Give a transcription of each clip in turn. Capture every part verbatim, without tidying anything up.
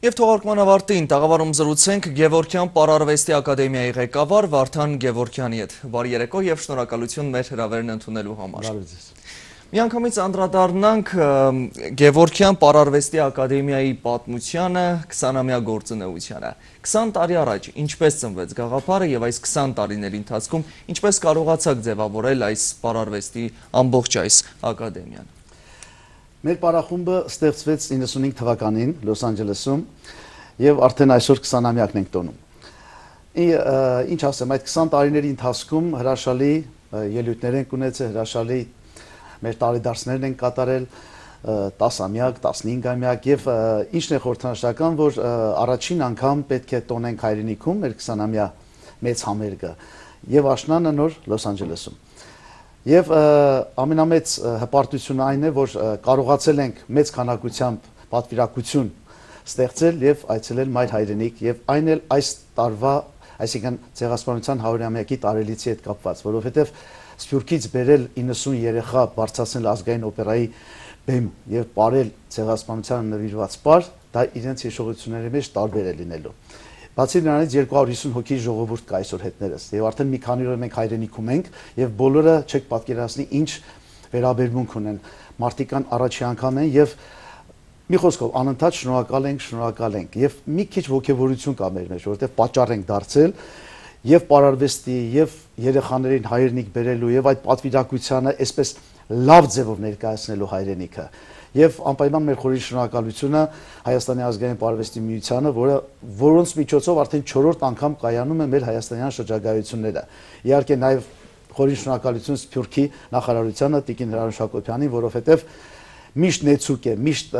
Եվ թողարկման ավարտին տաղավարում զրուցենք Գևորգյան Պարարվեստի ակադեմիայի ղեկավար Վարդան Գևորգյանի հետ։ Բարի երեկո եւ շնորհակալություն մեր հրավերն ընդունելու համար։ Միանգամից անդրադառնանք Գևորգյան Պարարվեստի ակադեմիայի պատմությանը, քսանամյա գործունեությանը։ քսան տարի առաջ ինչպես ծնվեց գաղափարը եւ այս քսան տարիների ընթացքում ինչպես կարողացաք ձևավորել այս պարարվեստի ամբողջ այս ակադեմիան։ Մեր պարախումբը ստեղծվեց իննսունհինգ թվականին Լոս Անջելեսում եւ արդեն այսօր քսանամյակն ենք տոնում։ Ինչ ասեմ, այդ քսան տարիների ընթացքում հրաշալի ելույթներ ենք ունեցել, հրաշալի մեր տարեդարձներն ենք կատարել, տասամյակ, տասնհինգամյակ եւ ինչն է խորհրդանշական, որ առաջին անգամ պետք է տոնենք հայրենիքում մեր քսանամյա մեծ համերգը եւ աշնանը նոր Լոս Անջելեսում։ Եվ ամենամեծ հպարտությունը այն է, որ կարողացել ենք մեծ քանակությամբ պատվիրակություն ստեղծել եւ այցելել մայր հայրենիք եւ այն էլ այս տարվա, այսինքն ցեղասպանության հարյուրամյակի տարելիցի հետ կապված, որովհետեւ Սփյուռքից բերել իննսուն երեխա բարձրացնել ազգային օպերայի բեմ եւ ապարել ցեղասպանությանը նվիրված պար, դա իրենց հիշողությունների մեջ տարբեր է լինելու։ Բացի նրանից երկու հարյուր հիսուն հոգի ժողովուրդ կա այսօր հետներս եւ արդեն մի քանի օր մենք հայրենիքում ենք եւ բոլորը չեք պատկերացնի ինչ վերաբերմունք ունեն, մարդիկան առաջի անգամ են եւ մի խոսքով անընդհատ շնորհակալ ենք, շնորհակալ ենք եւ մի քիչ ողջավորություն կա մեր մեջ, որովհետեւ պատճառ ենք դարձել եւ պարարվեստի եւ երեխաներին հայրենիք բերելու եւ այդ պատվիրակությանը այսպես լավ ձևով ներկայացնելու հայրենիքը։ Եվ անպայման մեր խորին շնորհակալությունը Հայաստանի ազգային պարարվեստի միությանը, որը որոնց միջոցով արդեն չորրորդ անգամ կայանում է մեր հայաստանյան շրջագայությունները։ Իհարկե նաև խորին շնորհակալություն Սփյուռքի նախարարությանը Տիկին Հրանուշ Հակոբյանին, որովհետև միշտ նեցուկ է, միշտ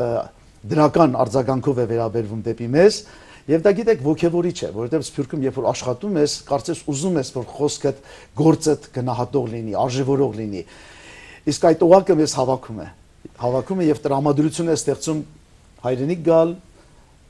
դրական արձագանքով է վերաբերվում դեպի մեզ, եւ դա գիտեք ոգևորիչ է, որովհետև Սփյուռքում երբ որ աշխատում ես, կարծես ուզում ես, որ խոսքդ, գործդ գնահատող լինի, արժևորող լինի։ Իսկ այդ օղակը մեզ հավաքում է։ Հավաքում է եւ տրամադրություն է ստեղծում հայրենիք գալ,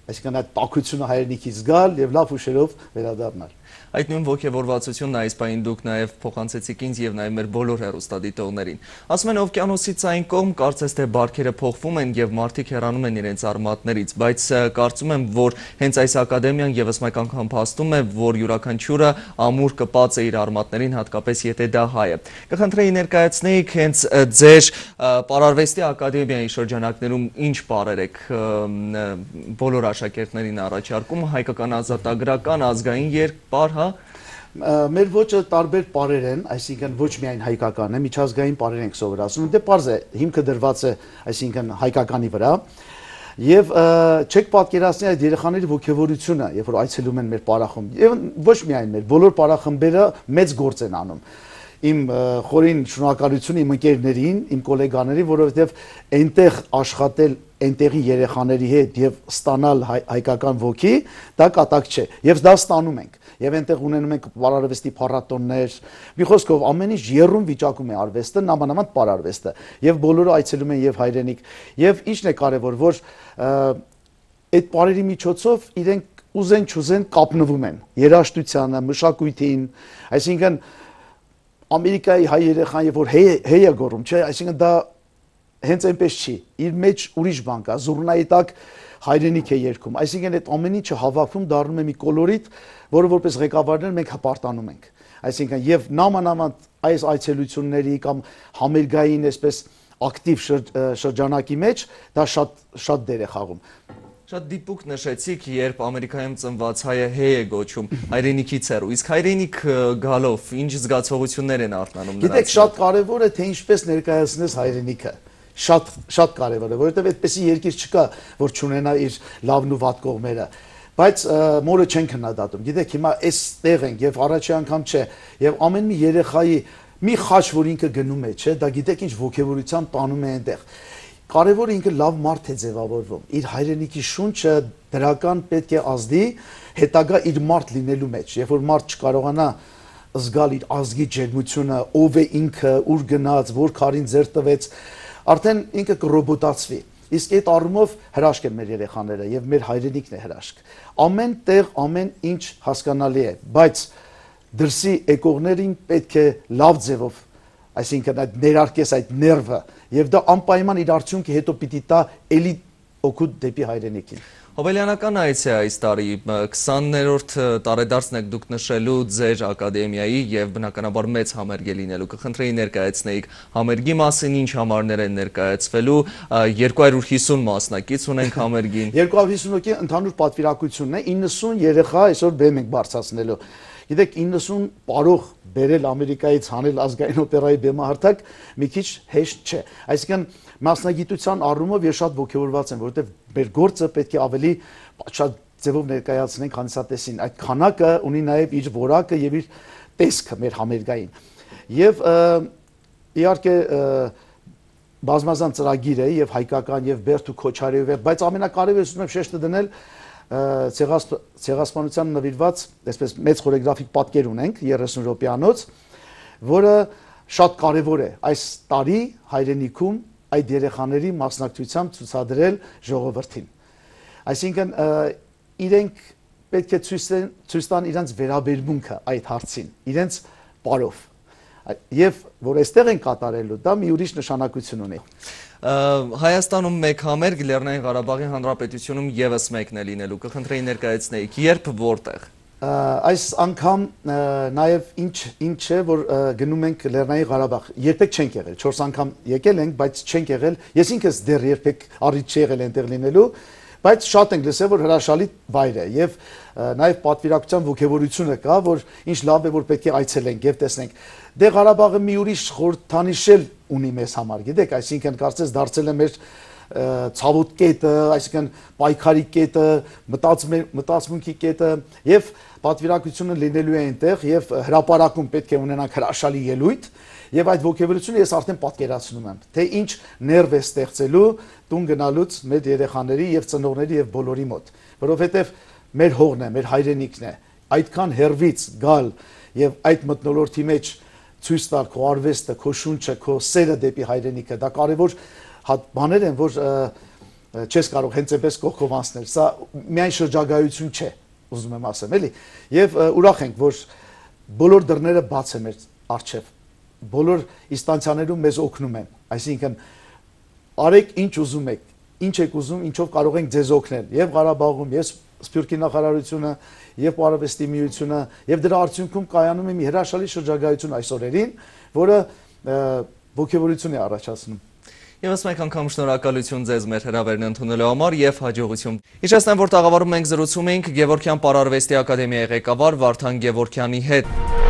այսինքն այդ տաքությունը հայրենիքից գալ եւ լավ հուշերով վերադառնալ։ Այդ նույն ողջավորվածությունն այս պահին դուք նաև փոխանցեցիք ինձ եւ նաև մեր բոլոր հեռուստադիտողներին։ Ասում են օվկիանոսից այն կողմ կարծես թե բարքերը փոխվում են եւ մարդիկ հեռանում են իրենց արմատներից, բայց կարծում եմ, որ հենց այս ակադեմիան եւս մեկ անգամ փաստում է, որ յուրաքանչյուրը ամուր կպած է իր արմատներին, հատկապես եթե դա հայ է։ Կխնդրեի ներկայացնեիք հենց ձեր պարարվեստի ակադեմիայի շրջանակներում ինչ բառեր եք բոլոր աշակերտներին առաջարկում, հայկական ազատագրական, ազգային երգ Մեր ոճը տարբեր պարեր են, այսինքն ոչ միայն հայկական է, միջազգային պարեր ենք սովորացնում, դե պարզ է, հիմքը դրված է, այսինքն հայկականի վրա, եւ չեք պատկերացնի այդ երեխաների ոգևորությունը, երբ որ այցելում են մեր պարախումբ, եւ ոչ միայն մեր, բոլոր պարախմբերը մեծ գործ են անում։ Իմ խորին շնորհակալություն իմ ընկերներին, իմ գոլեգաներին, որովհետև այնտեղ աշխատել այնտեղի երեխաների հետ եւ ստանալ հայկական ոգի, դա կատակ չէ։ Եվ դա ստանում ենք։ Եվ այնտեղ ունենում ենք պարարվեստի փառատոններ։ Մի խոսքով ամեն ինչ եռում վիճակում է արվեստը, նամանավանդ պարարվեստը։ Եվ բոլորը այցելում են եւ հայրենիք։ Եվ ինչն է կարեւոր, որ այդ պարերի միջոցով իրենք ուզեն չուզեն կապնվում են երաժշտությանը, մշակույթին, այսինքն Ամերիկայի հայ երեխան երբ որ հեյ է գոռում, չէ, այսինքն դա հենց այնպես չի։ Իր մեջ ուրիշ բան կա, զուռնայի տակ հայրենիք է երգում։ Այսինքն այդ ամեն ինչը հավաքում դառնում է մի կոլորիտ, որը որպես ղեկավարներ մենք հպարտանում ենք։ Այսինքն եւ նամանավանդ այս այցելությունների կամ համերգային այսպես ակտիվ շրջանակի մեջ դա շատ շատ դեր է խաղում։ Շատ դիպուկ նշեցիք, երբ Ամերիկայում ծնված հայը հեյ է գոչում, հայրենիքից հեռու, իսկ հայրենիք գալով ինչ զգացողություններ են արթնանում նրանց։ Գիտեք, շատ կարևոր է թե ինչպես ներկայացնես հայրենիքը։ Շատ շատ կարևոր է, որովհետև այդպեսի երկիր չկա, որ չունենա իր լավն ու վատ կողմերը։ Բայց մորը չեն քննադատում։ Գիտեք, հիմա այստեղ ենք եւ առաջի անգամ չէ, եւ ամեն մի երեխայի մի խաչ, որ ինքը գնում է, չէ, դա գիտեք ինչ ոգևորությամբ տանում է այնտեղ։ Կարևորը ինքը լավ մարդ է ձևավորվում, իր հայրենիքի շունչը դրական պետք է ազդի հետագա իր մարդ լինելու մեջ, երբ որ մարդ չկարողանա զգալ իր ազգի ջերմությունը, ով է ինքը, ուր գնաց, որ քարին ձեռ տվեց, արդեն ինքը կռոբոտացվի։ Իսկ այդ առումով հրաշք են մեր երեխաները եւ մեր հայրենիքն է հրաշք։ Ամեն տեղ ամեն ինչ հասկանալի է, բայց դրսի եկողներին պետք է լավ ձևով, այսինքն այդ ներարկես այդ ներվը եւ դա անպայման իր արդյունքը հետո պիտի տա էլի օգուտ դեպի հայրենիքին։ Հոբելյանական այց է այս տարի, քսաներորդ տարեդարձն եք դուք նշելու ձեր ակադեմիայի և բնականաբար մեծ համերգ է լինելու, կխնդրեի ներկայացնեիք համերգի մասին, ինչ համարներ են ներկայացվելու, երկու հարյուր հիսուն մասնակից ունենք համերգին։ երկու հարյուր հիսուն ընդհանուր պատվիրակությունն է, իննսուն երեխա այսօր բեմ ենք բարձրացնելու։ Գիտեք, իննսուն պարող բերել Ամերիկայից հանել ազգային օպերայի բեմահարթակ մի քիչ հեշտ չէ։ Այսինքն մասնագիտության առումով ես շատ ոգևորված եմ, որովհետև մեր գործը պետք է ավելի շատ ձևով ներկայացնենք հանդիսատեսին։ Այդ քանակը ունի նաև իր որակը եւ իր տեսքը մեր համերգային։ Եվ իհարկե բազմազան ծրագիր է եւ հայկական եւ Բերթու Քոչարյովի, բայց ամենակարևորը ուզում եմ շեշտը դնել ցեղասպանության նվիրված այսպես մեծ խորեգրաֆիկ պատկեր ունենք երեսուն րոպեանոց, որը շատ կարևոր է այս տարի հայրենիքում այդ երեխաների մասնակցությամբ ցուցադրել ժողովրդին։ Այսինքն իրենք պետք է ցույց տան իրենց վերաբերմունքը այդ հարցին, իրենց բարով։ Եվ որ այստեղ են կատարելու, դա մի ուրիշ նշանակություն ունի։ Հայաստանում մեկ համերգ, Լեռնային Ղարաբաղի Հանրապետությունում ևս մեկն է լինելու, կխնդրեի ներկայացնեիք, երբ, որտեղ։ Այս անգամ նաև ինչ է, որ գնում ենք Լեռնային Ղարաբաղ, երբեք չենք եղել, չորս անգամ եկել ենք, բայց չենք եղել, ես ինքս դեռ երբեք առիթ չի եղել այնտեղ լինելու, բայց շատ ենք լսել, որ հրաշալի վայր է եւ նաեւ պատվիրակության ոգևորությունը կա, որ ինչ լավ է, որ պետք է այցելենք եւ տեսնենք։ Դե Ղարաբաղը մի ուրիշ խորհրդանիշ էլ ունի մեզ համար, գիտեք, այսինքն կարծես դարձել է մեր ցավոտ կետը, այսինքն պայքարի կետը, մտածմունքի կետը եւ պատվիրակությունը լինելու է այնտեղ եւ հրապարակում պետք է ունենանք հրաշալի ելույթ եւ այդ ոգևորությունը ես արդեն պատկերացնում եմ, թե ինչ ներվ է ստեղծելու տուն գնալուց մեր երեխաների եւ ծնողների եւ բոլորի մոտ, որովհետեւ մեր հողն է, մեր հայրենիքն է, այդքան հերվից գալ եւ այդ մթնոլորտի մեջ ցույց տալ քո արվեստը, քո շունչը, քո սերը դեպի հայրենիքը, դա կարևոր բաներ են, որ չես կարող հենց այնպես կողքով անցնել, սա միայն շրջագայություն չէ, ուզում եմ ասեմ, էլի, եւ ուրախ ենք, որ բոլոր դռները բաց են մեր առջև, բոլոր ինստանցիաներում մեզ օգնում են, այսինքն արեք ինչ ուզում եք, ինչ եք ուզում, ինչով կարող ենք ձեզ օգնել, եւ Ղարաբաղում, եւ Սփյուռքի նախարարությունը, եւ Պարավեստի միությունը, եւ դրա արդյունքում կայանում է մի հրաշալի շրջագայություն այս օրերին, որը ոգևորություն է առաջացնում։ Եվս մեկ անգամ շնորհակալություն ձեզ մեր հրավերն ընդունելու համար եւ հաջողություն։ Հիշեցնեմ, որ տաղավարում մենք զրուցում ենք Գևորգյան Պարարվեստի ակադեմիայի ղեկավար Վարդան Գևորգյանի հետ։